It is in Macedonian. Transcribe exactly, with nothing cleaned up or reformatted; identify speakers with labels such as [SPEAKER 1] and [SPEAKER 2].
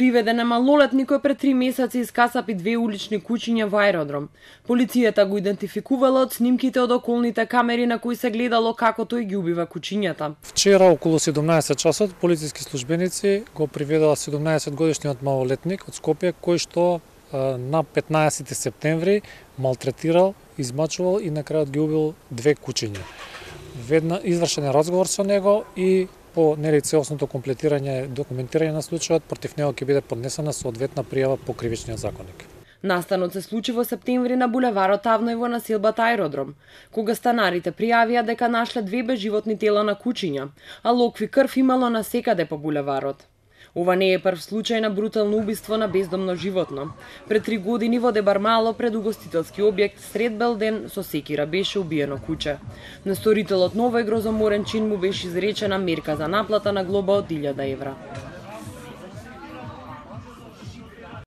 [SPEAKER 1] Приведен е малолетник кој пред три месеци искасапи две улични куќиња во аеродром. Полицијата го идентификувала од снимките од околните камери на кои се гледало како тој ги убива куќињата.
[SPEAKER 2] Вчера околу седумнаесет часот полициски службеници го приведоа седумнаесет годишниот малолетник од Скопје кој што на петнаесети септември малтретирал, измачувал и на крајот ги убил две куќиња. Ведна извршен е разговор со него и по нели целосното комплетирање, документирање на случајот, против него ќе биде поднесена соодветна пријава по кривичниот законник.
[SPEAKER 1] Настанот се случи во септември на булеварот Тавној во населбата Аеродром, кога станарите пријавија дека нашле две безживотни тела на куќиња, а локви крв имало насекаде по булеварот. Ова не е прв случај на брутално убиство на бездомно животно. Пред три години во Дебармало пред угостителски објект сред Белден со секира беше убиено куче. На сторителот на овој грозоморен чин му беше изречена мерка за наплата на глоба од илјада евра.